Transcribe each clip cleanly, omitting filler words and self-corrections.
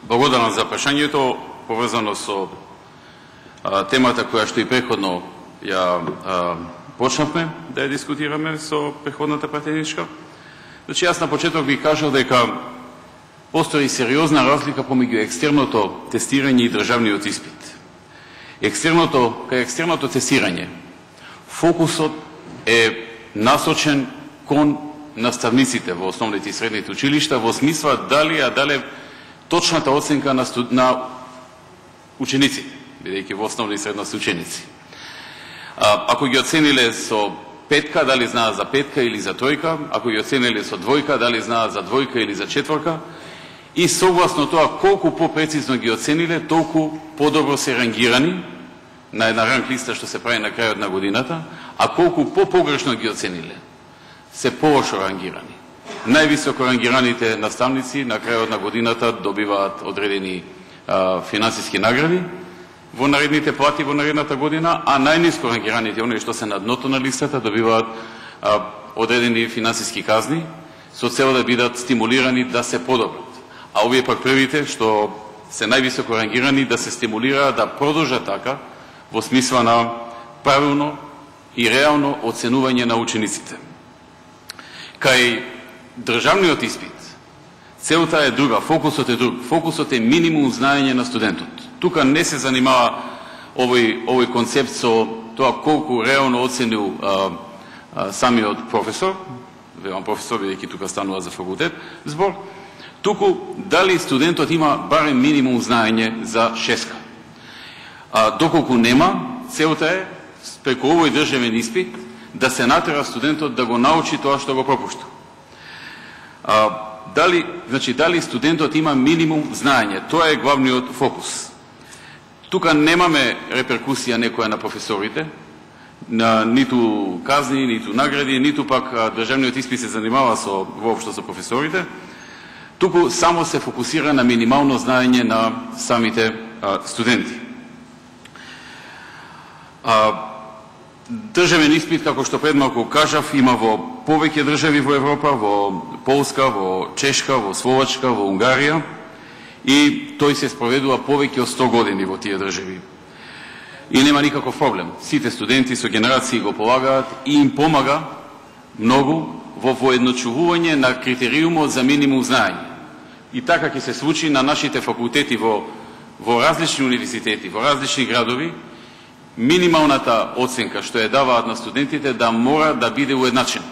Благодарам за прашањето, поврзано со темата која што и преходно ја почнавме да ја дискутираме со преходната пратеничка. Значи, јас на почеток би кажал дека постои сериозна разлика помеѓу екстерното тестирање и државниот испит. Кај екстерното тестирање, фокусот е насочен кон наставниците во основните и средните училишта во смисла дали точната оценка на учениците, бидејќи во основна и средна се ученици. Ако ги оцениле со петка, дали знаат за петка или за тројка, ако ги оцениле со двојка, дали знаат за двојка или за четворка, и согласно тоа колку попрецизно ги оцениле, толку подобро се рангирани на една ранг листа што се прави на крајот на годината, а колку попогрешно ги оцениле, се полошо рангирани. Највисоко рангираните наставници на крајот на годината добиваат одредени финансиски награди во наредните плати во наредната година, а најниско рангираните, оние што се на дното на листата, добиваат одредени финансиски казни со цел да бидат стимулирани да се подобрат. А овие пак првите, што се највисоко рангирани, да се стимулираат да продолжат така во смисла на правилно и реално оценување на учениците. Кај државниот испит, целта е друга, фокусот е друг. Фокусот е минимум знаење на студентот. Тука не се занимава овој концепт со тоа колку реално оценил самиот професор, велам професор, бидејќи тука станува за факултет, збор, туку дали студентот има барем минимум знаење за шеска. Доколку нема, целта е преку овој државен испит да се натера студентот да го научи тоа што го пропушта. Дали студентот има минимум знаење, тоа е главниот фокус. Тука немаме реперкусија некоја на професорите, на ниту казни, ниту награди, ниту пак државниот испит се занимава воопшто со професорите, туку само се фокусира на минимално знаење на самите студенти. Државен испит, како што пред малку кажав, има во повеќе држави во Европа, во Полска, во Чешка, во Словачка, во Унгарија, и тој се спроведува повеќе од 100 години во тие држави. И нема никаков проблем. Сите студенти со генерации го полагаат и им помага многу во воедночувување на критериумот за минимум знаење. И така ќе се случи на нашите факултети во различни универзитети, во различни градови, минималната оценка што ја даваат на студентите да мора да биде уедначена.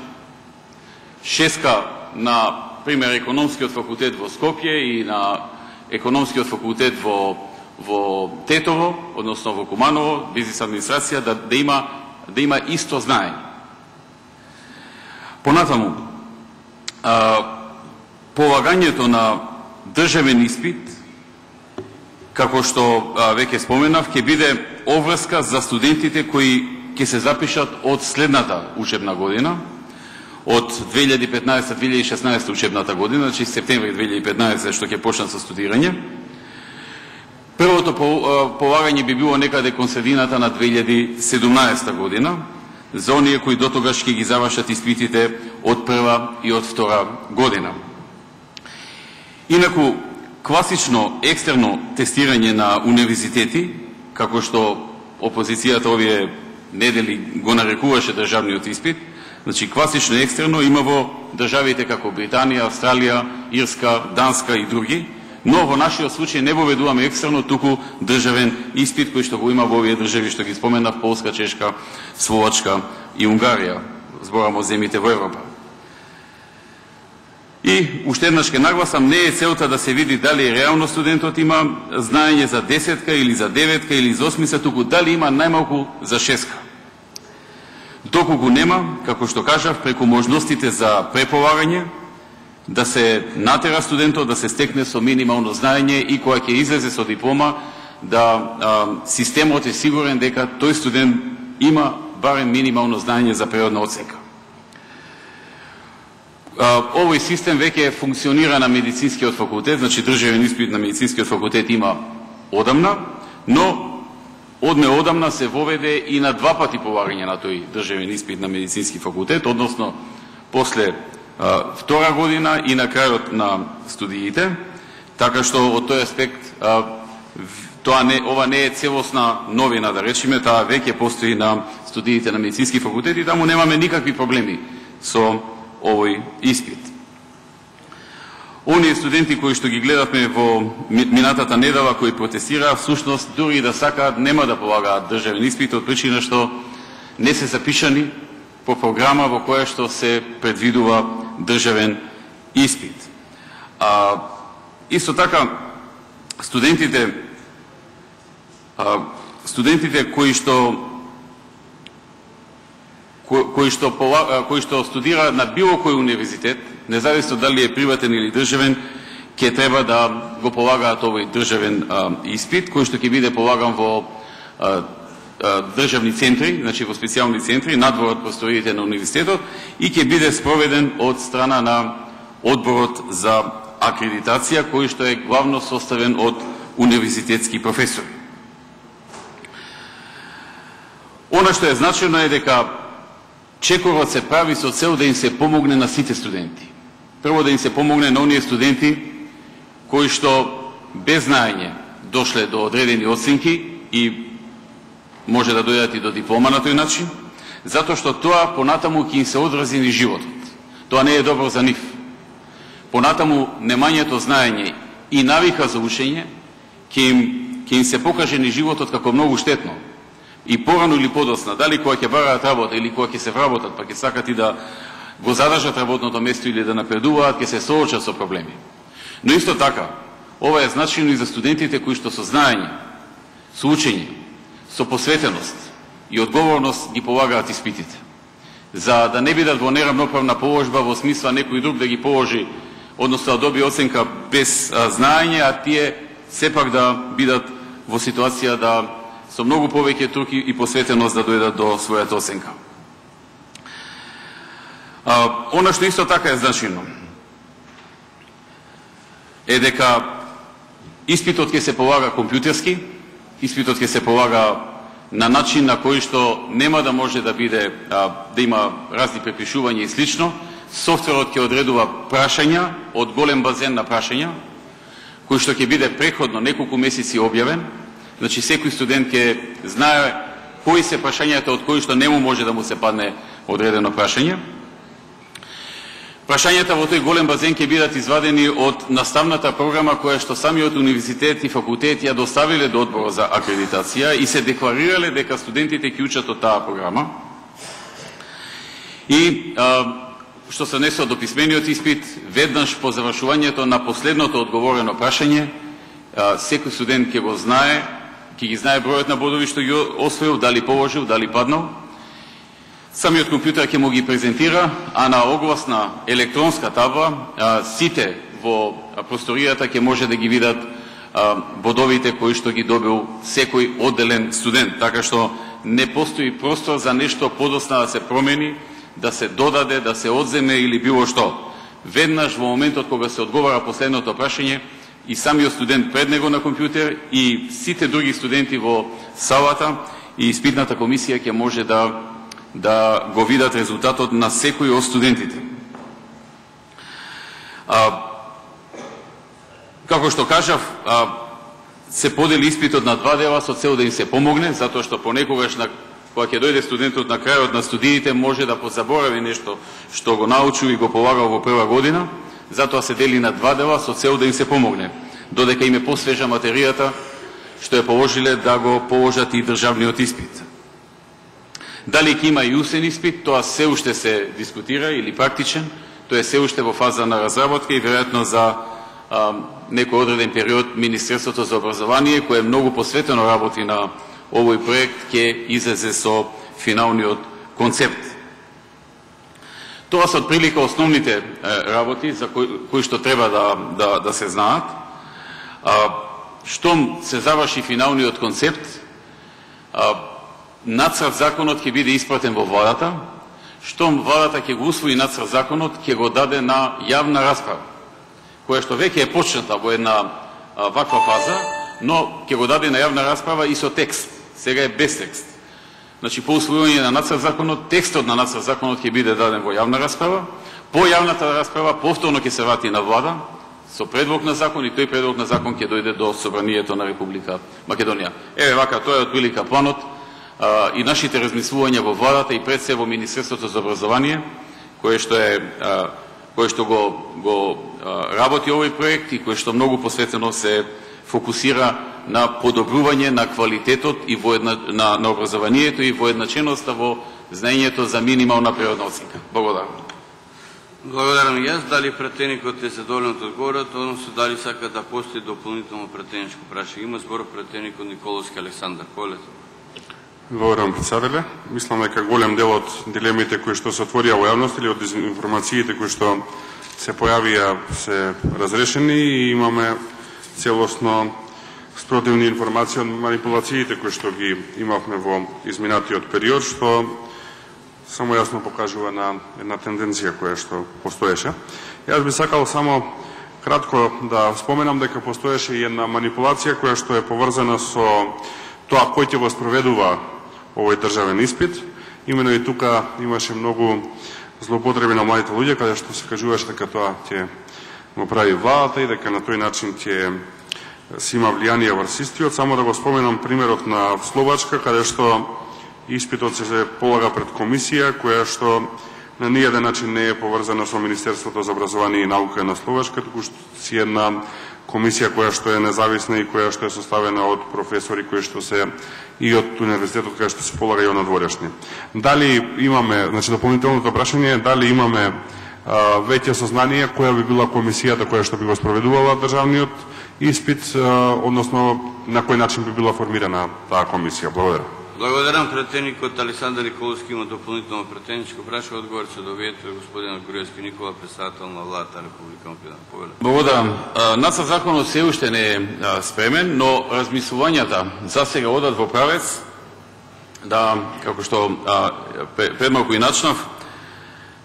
Шеска на пример економскиот факултет во Скопје и на економскиот факултет во Тетово, односно во Куманово, бизнис администрација, да има исто знаење. Понатаму, полагањето на државен испит, како што веќе споменав, ќе биде обврска за студентите кои ќе се запишат од следната учебна година, од 2015-2016 учебната година, значи септември 2015 што ќе почнат со студирање. Првото полагање би било некаде кон средината на 2017 година, за оние кои дотогаш ќе ги завршат испитите од прва и од втора година. Инаку, класично екстерно тестирање на универзитети, како што опозицијата овие недели го нарекуваше државниот испит, значи класично екстерно има во државите како Британија, Австралија, Ирска, Данска и други, но во нашиот случај не воведуваме екстерно, туку државен испит кој што го има во овие држави што ги споменав, Полска, Чешка, Словачка и Унгарија, зборам од земјите во Европа. И уште еднаш ке нагласам, не е целта да се види дали реално студентот има знаење за 10-ка или за 9-ка или за 8-ка, туку дали има најмалку за 6-ка. Доколку нема, како што кажав, преку можностите за преполагање, да се натера студентот да се стекне со минимално знаење и кога ќе излезе со диплома, да системот е сигурен дека тој студент има барем минимално знаење за природна оценка. Овој систем веќе функционира на медицинскиот факултет, значи државен испит на медицинскиот факултет има одамна, но одамна се воведе и на 2 пати полагање на тој државен испит на медицински факултет, односно после втора година и на крајот на студиите. Така што од тој аспект ова не е целосна новина, да речеме, таа веќе постои на студиите на медицински факултет и таму немаме никакви проблеми со овој испит. Оние студенти кои што ги гледавме во минатата недела, кои протестираа, всушност дури да сакаат нема да полагаат државен испит од причина што не се запишани по програма во која што се предвидува државен испит. Исто така, студентите кои што студираат на било кој универзитет, независно дали е приватен или државен, ќе треба да го полагаат овој државен испит, кој што ќе биде полаган во државни центри, значи во специјални центри, надвор од просториите на универзитетот, и ќе биде спроведен од страна на одборот за акредитација, кој што е главно составен од универзитетски професори. Она што е значено е дека чекорот се прави со цел да им се помогне на сите студенти. Прво да им се помогне на оние студенти кои што без знаење дошле до одредени оценки и може да дојдат и до диплома на тој начин, затоа што тоа понатаму ќе им се одрази низ животот. Тоа не е добро за нив. Понатаму немањето знаење и навика за учење ќе им се покаже низ животот како многу штетно. И порано или подоцна, дали кога ќе бараат работа или кога ќе се вработат, па ќе сакат и да го задржат работното место или да напредуваат, ќе се соочат со проблеми. Но исто така, ова е значено и за студентите кои што со знаење, со учење, со посветеност и одговорност ги полагаат испитите. За да не бидат во неравноправна положба во смисла некој друг да ги положи, односно да добие оценка без знаење, а тие сепак да бидат во ситуација да со многу повеќе труд и посветеност да дојдат до својата оценка. Она што исто така е значено е дека испитот ќе се полага компјутерски, испитот ќе се полага на начин на кој што нема да може да биде, да има разни препишувања и слично. Софтверот ќе одредува прашања од голем базен на прашања, кој што ќе биде преходно неколку месеци објавен. Значи, секој студент ќе знае кои се прашањата од кои што не му може да му се падне одредено прашање. Прашањата во тој голем базен ќе бидат извадени од наставната програма која што самиот универзитет и факултет ја доставиле до одборот за акредитација и се декларирале дека студентите ќе учат од таа програма. И што се однесува до писмениот испит, веднаш по завршувањето на последното одговорено прашање, секој студент ќе го знае, ќе ги знае бројот на бодови што ги освоил, дали положил, дали паднал. Самиот компјутер ќе му ги презентира, а на огласна електронска табла сите во просторијата ќе може да ги видат бодовите кои што ги добил секој одделен студент, така што не постои простор за нешто подоцна да се промени, да се додаде, да се одземе или било што. Веднаш во моментот кога се одговара последното прашање, и самиот студент пред него на компјутер и сите други студенти во салата и испитната комисија ќе може да го видат резултатот на секој од студентите. Како што кажав, се подели испитот на два дела со цел да им се помогне, затоа што понекогаш кога ќе дојде студентот на крајот на студиите може да позаборави нешто што го научил и го полагал во прва година, затоа се дели на два дела со цел да им се помогне, додека им е посвежа материјата што ја положиле да го положат и државниот испит. Дали ќе има и усен испит, тоа се уште се дискутира, или практичен, тоа е се уште во фаза на разработка и веројатно за некој одреден период Министерството за образование, кое многу посветено работи на овој проект, ќе излезе со финалниот концепт. Тоа се отприлика основните работи за кои што треба да се знаат. Штом се заврши финалниот концепт, нацрт законот ќе биде испратен во владата. Штом владата ќе го усвои нацрт законот, ќе го даде на јавна расправа, која што веќе е почната во една ваква фаза, но ќе го даде на јавна расправа и со текст. Сега е без текст. Значи, по усвојување на нацрт законот, текстот на нацрт законот ќе биде даден во јавна расправа. По јавната расправа повторно ќе се врати на влада, со предлог на закон и тој предлог на закон ќе дојде до Собранието на Република Македонија. Еве вака, тоа е отприлика планот и нашите размислувања во владата и пред се во Министерството за образование, кое што го работи овој проект и кое што многу посветено се фокусира на подобрување на квалитетот и на образованието и воедначеноста во знаењето за минимална природна оценка. Благодарам. Благодарам и јас. Дали пратеникот е задоволен од одговорот, односно дали сака да постои дополнително пратеничко прашање? Има збор пратеникот Николовски Александар. Полет. Благодарам, председателе. Мислам дека голем дел од дилемите кои што се отворија во јавност или од информациите кои што се појавија се разрешени и имаме целосно спротивни информации од манипулациите кои што ги имавме во изминатиот период, што само јасно покажува на една тенденција која што постоеше. Јас би сакал само кратко да споменам дека постоеше и една манипулација која што е поврзана со тоа кој ќе го спроведува овој државен испит. Имено и тука имаше многу злоупотреби на младите луѓе, каде што се кажуваше дека тоа ќе го прави владата и дека на тој начин ќе си има влијание врз истиот. Само да го споменам примерот на Словачка, каде што испитот се полага пред комисија, која што на ниједен начин не е поврзана со Министерството за образование и наука на Словачка, туку што си една комисија која што е независна и која што е составена од професори кои што се и од универзитетот кај што се полага и од надворешни. Дали имаме, значи дополнителното прашање е дали имаме веќе сознание која би била комисијата која што би го спроведувала државниот испит, односно на кој начин би била формирана таа комисија. Благодарам. Благодарам. Пратеникот Александар Николовски има дополнително пратеничко прашање. Одговор се доведете од господин Груевски Никола, председател на владата Република Македонија. Благодарам. Нацрт законот се уште не е спремен, но размислувањата за сега одат во правец да, како што пред малку и начнав,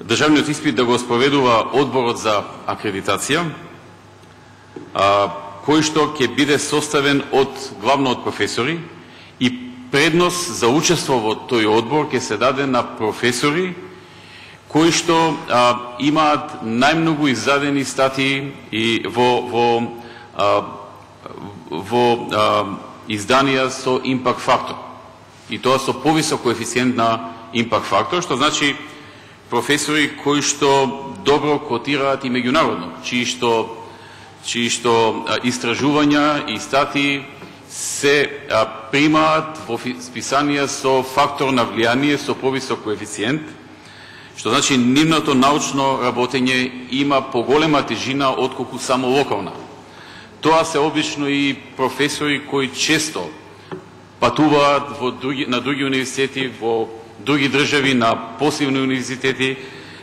државниот испит да го спроведува одборот за акредитација, кој што ќе биде составен од главно од професори и предност за учество во тој одбор ќе се даде на професори кои што имаат најмногу издадени статии и во изданија со импакт фактор. И тоа со повисок коефициент на импакт фактор, што значи професори кои што добро котираат и меѓународно, чии што истражувања и статии се примаат во списанија со фактор на влијание со повисок коефициент, што значи нивното научно работење има поголема тежина отколку само локална. Тоа се обично и професори кои често патуваат на други универзитети, во други држави, на посилни универзитети,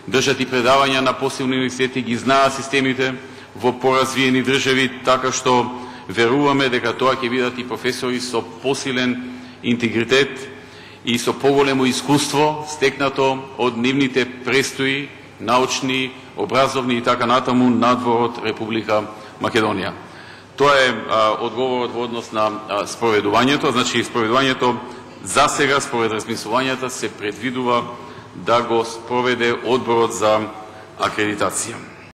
држат и предавања на посилни универзитети, ги знаат системите во поразвиени држави, така што веруваме дека тоа ќе бидат и професори со посилен интегритет и со поголемо искуство стекнато од нивните престои, научни, образовни и така натаму надвор од Република Македонија. Тоа е одговорот во однос на спроведувањето. Значи, спроведувањето за сега, според размислувањата, се предвидува да го спроведе одборот за акредитација.